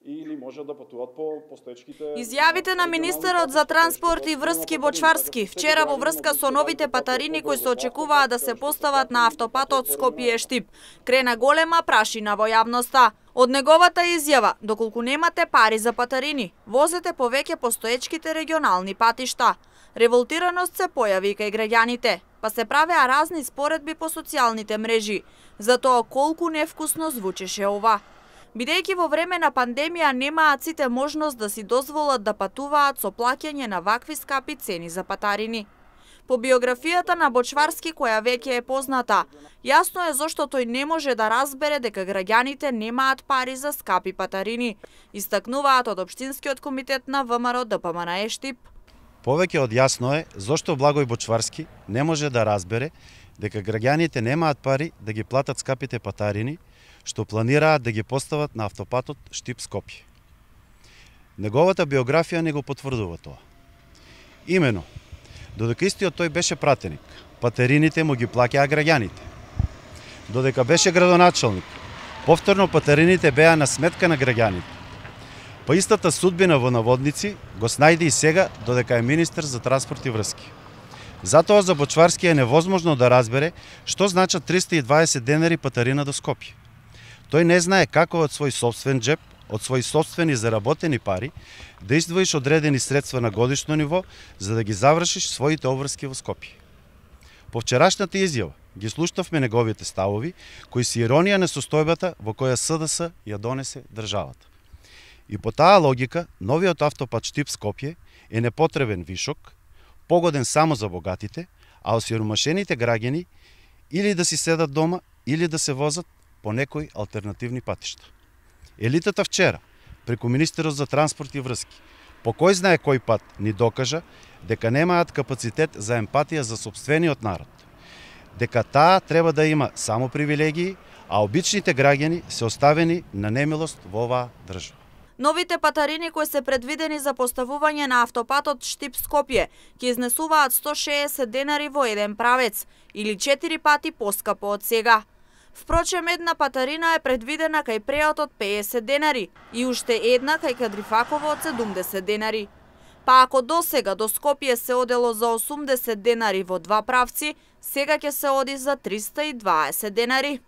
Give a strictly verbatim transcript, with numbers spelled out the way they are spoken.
или може да патуваат по постоечките. Изјавите на министерот за транспорт и врски Бочварски вчера во врска со новите патарини кои се очекуваат да се постават на автопатот Скопје-Штип крена голема прашина во јавноста. Од неговата изјава, доколку немате пари за патарини, возете повеќе постоечките регионални патишта. Револтираност се појави кај граѓаните, па се правеа разни споредби по социјалните мрежи за тоа колку невкусно звучеше ова. Бидејќи во време на пандемија немаат сите можност да си дозволат да патуваат со плаќање на вакви скапи цени за патарини. По биографијата на Бочварски, која веќе е позната, јасно е зошто тој не може да разбере дека граѓаните немаат пари за скапи патарини, истакнуваат од Општинскиот комитет на ВМРО ДПМН Штип. Повеќе од јасно е зошто Благој Бочварски не може да разбере дека граѓаните немаат пари да ги платат скапите патарини, што планираат да ги постават на автопатот Штип-Скопје. Неговата биографија не го потврдува тоа. Имено, додека истиот тој беше пратеник, патарините му ги плаќаа граѓаните. Додека беше градоначалник, повторно патарините беа на сметка на граѓаните. Па истата судбина во наводници го снајде и сега додека е министер за транспорт и врски. Затоа за Бочварски е невозможно да разбере што значат триста и дваесет денари патарина до Скопје. Тој не знае како од свој собствен джеп, од своји собствени заработени пари, да издвоиш одредени средства на годишно ниво за да ги завршиш своите обврски во Скопје. По вчерашната изјава ги слушнавме неговите ставови, кои се иронија на состојбата во која СДС ја донесе државата. И по таа логика, новиот автопат Штип-Скопје е непотребен вишок, погоден само за богатите, а осиромашените граѓани или да си седат дома, или да се возат по некои алтернативни патишта. Елитата вчера, преку министерот за транспорт и врски, по кој знае кој пат ни докажа дека немаат капацитет за емпатија за сопствениот народ, дека таа треба да има само привилегии, а обичните граѓани се оставени на немилост во оваа држава. Новите патарини кои се предвидени за поставување на автопатот Штип-Скопје ќе изнесуваат сто шеесет денари во еден правец, или четири пати поскапо од сега. Впрочем, една патарина е предвидена кај Преот од пеесет денари и уште една кај Кадрифаково од седумдесет денари. Па ако досега до Скопје се одело за осумдесет денари во два правци, сега ќе се оди за триста и дваесет денари.